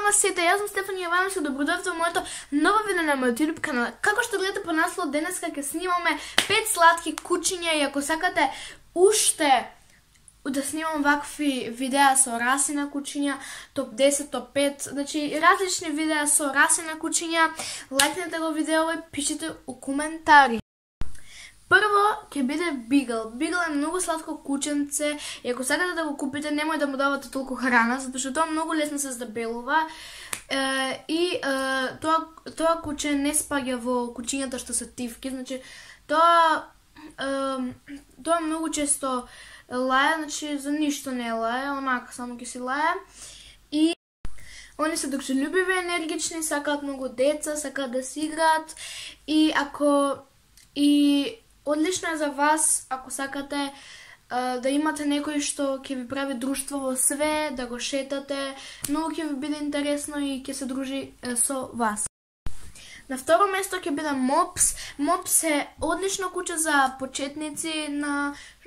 на сите, јас сум Стефани Јовановска, добродојавте во моето ново видео на мојот YouTube канал. Како што гледате по наслов, денеска ќе снимаме 5 сладки кучиња и ако сакате уште да снимам вакви видеа со раси на кучиња, топ 10, топ 5, значи различни видеа со раси на кучиња, лајкнете го видео и пишете у коментари. Прво ќе биде Бигл. Бигл е многу сладко кученце и ако сакате да го купите, немој да му давате толку храна, затоа што тоа многу лесно се здебелува. Тоа куче не спаѓа во кучињата што се тивки, значи тоа многу често лае, значи за ништо не лае, онака само ќе си лае. И они се дружелюбиви, енергични, сакаат многу деца, сакаат да си играат и одлично е за вас ако сакате да имате некој што ќе ви прави друштво во све, да го шетате, многу ќе ви биде интересно и ќе се дружи со вас. На второ место ќе биде Мопс. Мопс е одлично куче за почетници,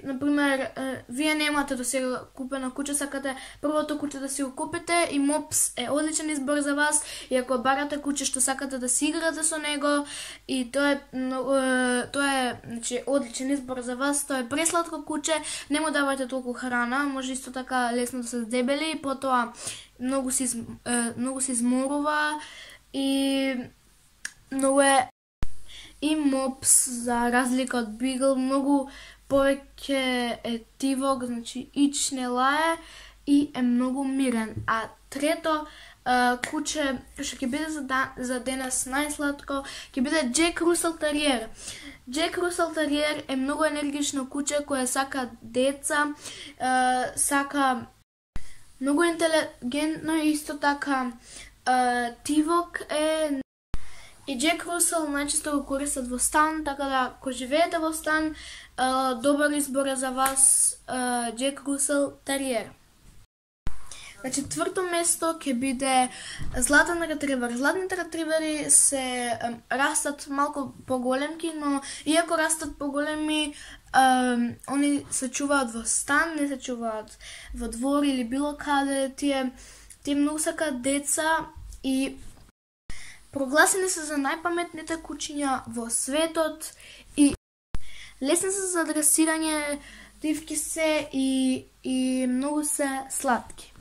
например, вие немате до сега купено куче, сакате првото куче да си го купите и Мопс е одличен избор за вас и ако барате куче што сакате да си играте со него и тоа е значи одличен избор за вас, тоа е пресладко куче, не му давајте толку храна, може исто така лесно да се здебели и потоа многу се изморува и многу е и Мопс за разлика од Бигл многу повеќе е тивок, значи ич не лае и е многу мирен. А трето куче што ќе биде за денес најсладко ќе биде Джек Русел Териер. Джек Русел Териер е многу енергично куче кое сака деца, сака многу интелигентно и исто така тивок е. И Джек Русел најчесто го користат во стан, така да ако живеете во стан, добар избор е за вас Джек Русел Териер. На четврто место ќе биде Златен ретривер. Златните ретривери се растат малку поголемки, но иако растат поголеми, они се чуваат во стан, не се чуваат во двор или било каде. Тие многу сакаат деца и прогласени се за најпаметните кучиња во светот и лесни се за дресирање, тивки се и многу се сладки.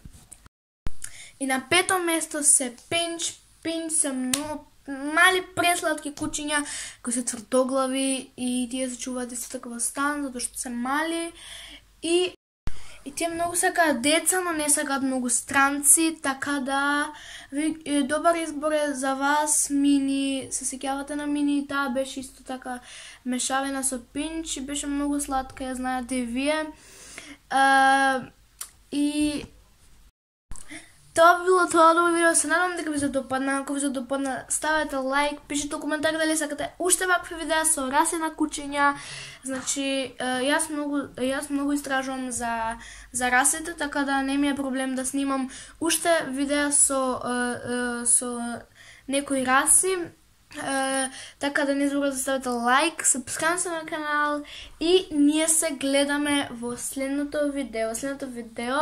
И на пето место се Пинч. Пинч се многу мали пресладки кучиња кои се тврдоглави и тие се чуваат исто така во стан затоа што се мали и тие многу сакаат деца, но не сакаат многу странци, така да добар избор е за вас Мини. Се сеќавате на Мини, таа беше исто така мешавина со Пинч и беше многу сладка, ја знаете и вие. И тоа било тоа ново видео, се надам дека ви се допадна. Ако ви се допадна, ставете лайк, пишете коментар дали сакате уште вакви видеа со раси на кучиња. Значи, јас многу истражувам за расите, така да не ми е проблем да снимам уште видеа со некои раси. Така да не забравяйте да ставите лайк, сабскрајб се на канал и ние се гледаме во следното видео. Следното видео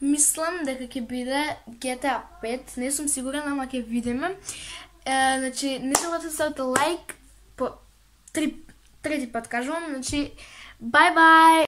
мислам дека ќе биде GTA 5, не сум сигурна, ама ќе видиме. Значи, не забравяйте да ставите лайк по трети пат кажувам, значи, бај-бај!